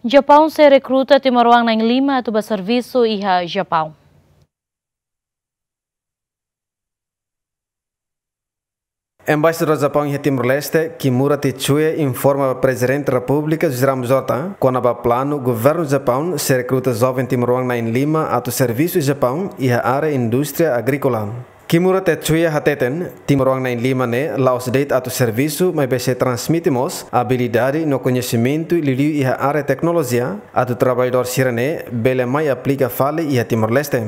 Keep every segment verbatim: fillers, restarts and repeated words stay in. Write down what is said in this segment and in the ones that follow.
Japaun sei rekruta timoroan na'in-lima atu ba servisu iha Japaun. Embaixadór Japaun iha Timor-Leste, Kimura Tetsuya, informa ba Prezidente Repúblika José Ramos Horta kona-ba planu governu Japaun sei rekruta joven timoroan na'in-lima atu servisu iha Japaun iha área indústria agríkola. Kimura Tetsuya hateten, timoroan na'in-lima ne'e la'ós de'it atu servisu, maibé sei transmite mós abilidade no koñesimentu liuliu iha área teknolojia, atu traballadór sira-ne'e bele mai aplika fali iha Timor-Leste.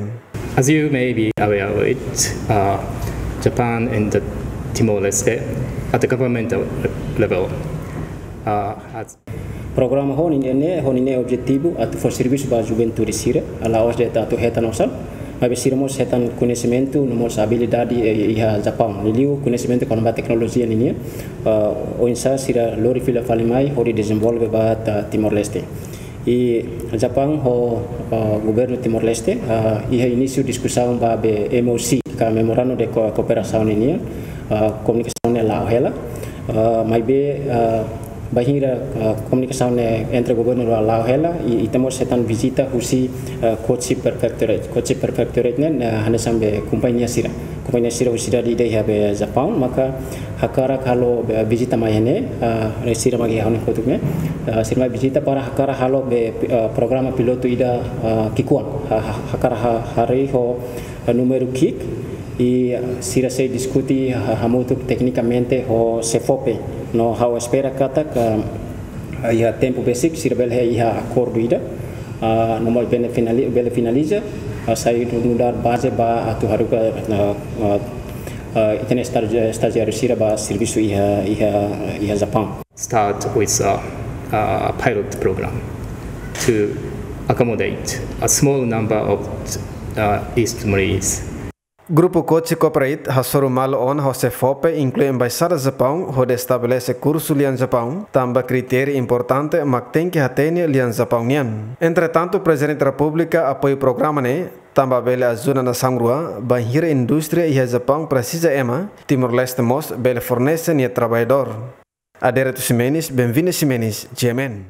As you may be aware of it, uh, Japan and the Timor-Leste at the governmental level, uh, has Programa ho ninia, ho ninia objetivu atu fó servisu ba juventude sira, la'ós de'it atu hetan osan, maibé sira mós hetan koñesimentu no mós abilidade, eh, iha Japaun. Liuliu koñesimentu kona-ba teknolojia ninia, ah, oinsá sira lori fila fali mai hodi dezenvolve ba ita Timor-Leste. I Japaun ho, ah, governu Timor-Leste, ah, iha inísiu diskusaun ba be M O C, ka Memorandum de Co-, Cooperação ninia, ah, komunikasaun ne'e la'o hela. Ah, maibé, ah, bainhira, ah, komunikasaun ne'e entre governu la-, la'o hela, i, i ita mós hetan vizita husi, ah, Kochi Prefectorate. Kochi Prefectorate ne'e, ah, hanesan be kompañia sira. Kompañia sira husi sidade ida iha be Japaun, maka hakarak halo be vizita mai iha ne'e, ah, sira mak iha ha'u-nia kotuk ne'e. Ah, sira mai vizita para hakarak halo be, ah, programa pilotu ida, ah, ki'ikoan. Ha-, ha-, hakarak ha-, harii ho, ah, númeru ki'ik, i sira sei diskute ha-, hamutuk teknikamente ho SEFOPE. No ha'u espera katak, ah, iha tempu besik sira bele iha akordu ida, ah, no mós bele finali-, bele finaliza, ah, sai nu'udar baze ba atu haruka, ah, ah, ah, ita-nia estaji-, estajiáriu sira ba servisu iha, iha, iha Japaun. Start with a, a pilot program to accommodate a small number of, uh, East Timorese. Grupu Kochi Cooperate hasoru malu ona ho SEFOPE, inklui Embaixada Japaun, hodi estabelese kursu lian Japaun, tanba kritériu importante mak tenke hatene lian Japaun nian. Entretantu, Prezidente Repúblika apoiu programa ne'e, tanba bele ajuda nasaun rua, bainhira indústria iha Japaun presiza ema, Timor-Leste mós bele fornese nia traballadór. Adérito Ximenes, Benvinda Ximenes, G M N.